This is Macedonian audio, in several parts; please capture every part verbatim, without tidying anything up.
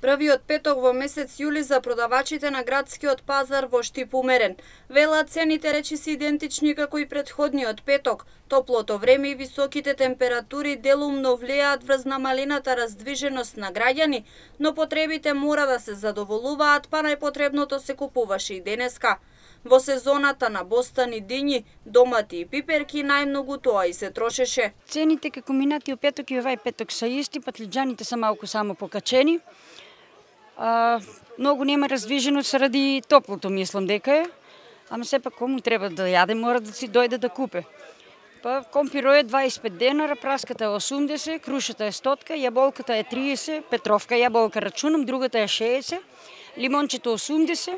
Првиот петок во месец јули за продавачите на градскиот пазар во Штип умерен. Велат цените речиси идентични како и претходниот петок. Топлото време и високите температури делумно влијаат врз намалената раздвиженост на граѓани, но потребите мора да се задоволуваат, па најпотребното се купуваше и денеска. Во сезоната на бостани, дињи, домати и пиперки најмногу тоа и се трошеше. Цените како минатиот петок и овај петок се исти, патлиџаните се малку само покачени. А, многу нема раздвиженост ради топлото, мислам дека е. Ама сепак кому треба да јаде, мора да си дојде да купе. Па компиро е дваесет и пет денара, праската е осумдесет, крушата е сто, јаболката е триесет, петровка јаболка рачунам, другата е шеесет, лимончето осумдесет,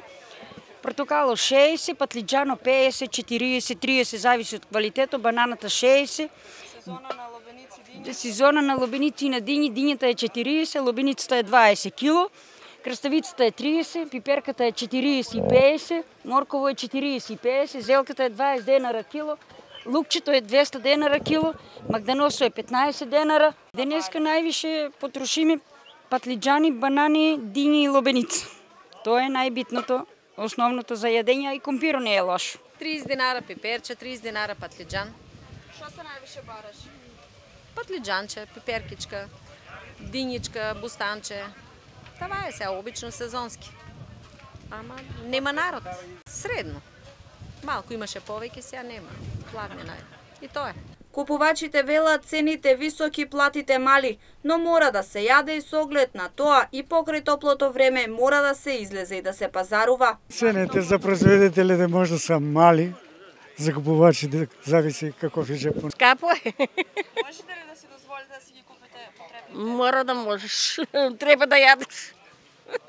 портокало шеесет, патлиџано пеесет, четириесет, триесет, зависи од квалитето, бананата шеесет. Сезона на лобеници, дињи. Сезона на лобеници и на дињи, дињата е четириесет, лобеницата е дваесет кило, краставицата е триесет, пиперката е четириесет и пеесет, морково е четириесет и пеесет, зелката е дваесет денара кило, лукчето е двеста денара кило, магданосо е петнаесет денара. Денеска највише потрошиме патлиџани, банани, дињи и лобеница. Тоа е најбитното, основното за јадење, и компиро не е лошо. триесет динара пиперче, триесет динара патлиџан. Што се највише бараш? Патлиџанче, пиперкичка, дињичка, бустанче. Това е сега обично сезонски. Ама нема народ. Средно. Малку имаше повеќе, сега нема. Пладнина е. И тоа е. Купувачите велат цените високи, платите мали, но мора да се јаде и со оглед на тоа и покрај топлото време мора да се излезе и да се пазарува. Цените за производителите може да се мали, за купувачите зависи каков е джепот. Скапо е. Можете ли да си дозволите да си ги купите потребните? Мора да можеш. Треба да јадеш.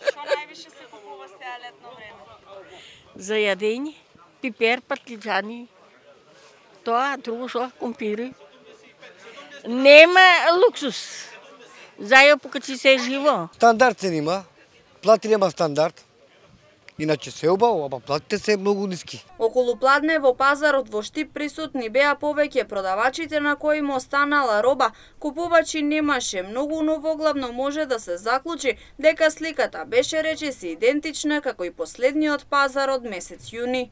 Што највише се купува сега летно време? За јадење, пипер, патлиџани. Тоа, друго што, компири. Нема луксус. Зајо покачи се живо. Стандард се нима. Плати нема стандард. Иначе се убаво, ама платите се многу ниски. Околу пладне во пазарот во Штип присутни беа повеќе продавачите на кои му останала роба. Купувачи немаше многу, но воглавно може да се заклучи дека сликата беше речиси идентична како и последниот пазар од месец јуни.